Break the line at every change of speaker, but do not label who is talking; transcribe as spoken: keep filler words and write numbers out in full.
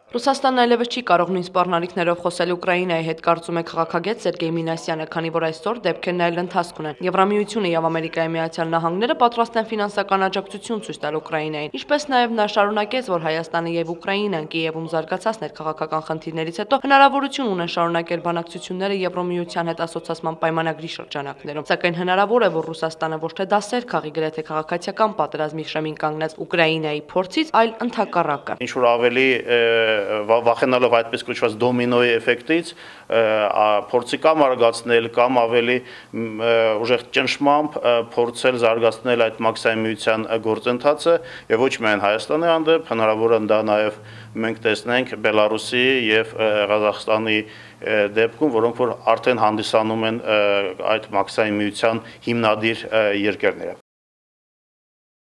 Ռուսաստանն այլևս չի կարող նույն սպառնալիքներով խոսել Ուկրաինայի հետ, կարծում է քաղաքագետ Սերգեյ Մինասյանը, քանի որ այսօր դեպքերն այլ ընթացք ունեն։ Եվրամիությունը եւ Ամերիկայի Միացյալ Նահանգները պատրաստ են ֆինանսական աջակցություն ցույց տալ Ուկրաինային, ինչպես նաեւ նա շարունակեց, որ Հայաստանը եւ Ուկրաինան Կիևում զարգացած ներքաղաքական խնդիրներից հետո հնարավորություն ունեն շարունակել բանակցությունները Եվրամիության հետ ասոցացման պայմանագրի շրջանակներում, սակայն հնարավոր է, որ Ռուսաստանը ոչ թե դասեր քաղի գրեթե քաղաքացիական պատերազմի շեմին կանգնած Ուկրաինայի փորձից, այլ ընդհակառակը։
Ինչ որ ավելի վախենալով այդպես կոչված դոմինոյի էֆեկտից փորձի կամ արգացնել կամ ավելի ուժեղ ճնշմամբ փորձել զարգացնել այդ մաքսիմումության գործընթացը եւ ոչ միայն Հայաստանի հանդեպ, հնարավոր է դա նաեւ մենք տեսնենք Բելարուսի եւ Ղազախստանի դեպքում, որոնք որ արդեն հանդիսանում են այդ մաքսիմումության հիմնադիր երկրները։